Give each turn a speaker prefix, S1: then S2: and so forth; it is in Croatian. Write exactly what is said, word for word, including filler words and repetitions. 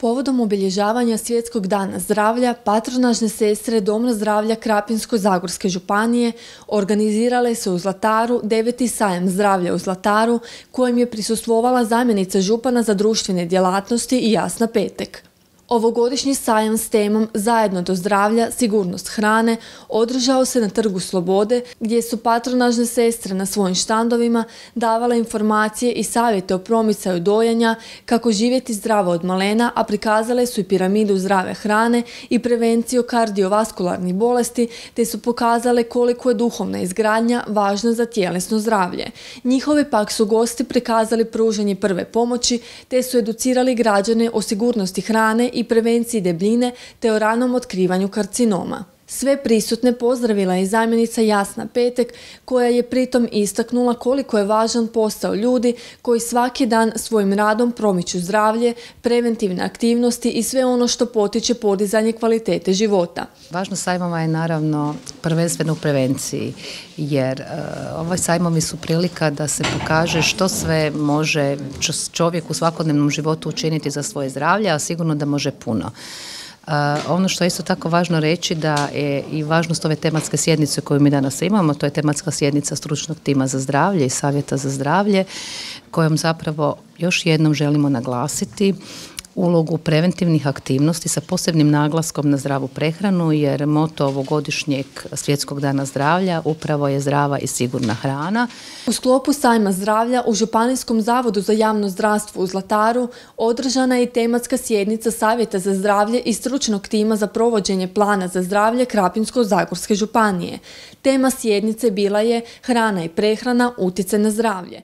S1: Povodom obilježavanja Svjetskog dana zdravlja, patronažne sestre Doma zdravlja Krapinsko-zagorske županije organizirale su u Zlataru deveti sajam zdravlja u Zlataru, kojem je prisustvovala zamjenica župana za društvene djelatnosti Jasna Petek. Ovogodišnji sajam s temom Zajedno do zdravlja, sigurnost hrane održao se na Trgu Slobode, gdje su patronažne sestre na svojim štandovima davale informacije i savjete o promicaju dojenja, kako živjeti zdravo od malena, a prikazale su i piramidu zdrave hrane i prevenciju kardiovaskularnih bolesti, te su pokazale koliko je duhovna izgradnja važna za tjelesno zdravlje. Njihovi pak su gosti prikazali pružanje prve pomoći, te su educirali građane o sigurnosti hrane i prevenciji debljine te o ranom otkrivanju karcinoma. Sve prisutne pozdravila je zamjenica Jasna Petek, koja je pritom istaknula koliko je važan posao ljudi koji svaki dan svojim radom promiču zdravlje, preventivne aktivnosti i sve ono što potiče podizanje kvalitete života.
S2: Važnost sajmova je naravno prvenstveno u prevenciji, jer uh, ovaj sajmovi su prilika da se pokaže što sve može čovjek u svakodnevnom životu učiniti za svoje zdravlje, a sigurno da može puno. Uh, ono što je isto tako važno reći da je i važnost ove tematske sjednice koju mi danas imamo, to je tematska sjednica stručnog tima za zdravlje i savjeta za zdravlje, kojom zapravo još jednom želimo naglasiti ulogu preventivnih aktivnosti sa posebnim naglaskom na zdravu prehranu, jer moto ovogodišnjeg Svjetskog dana zdravlja upravo je zdrava i sigurna hrana.
S1: U sklopu sajma zdravlja u Županijskom zavodu za javno zdravstvo u Zlataru održana je i tematska sjednica Savjeta za zdravlje i stručnog tima za provođenje plana za zdravlje Krapinsko-zagorske županije. Tema sjednice bila je Hrana i prehrana, utjecaj na zdravlje.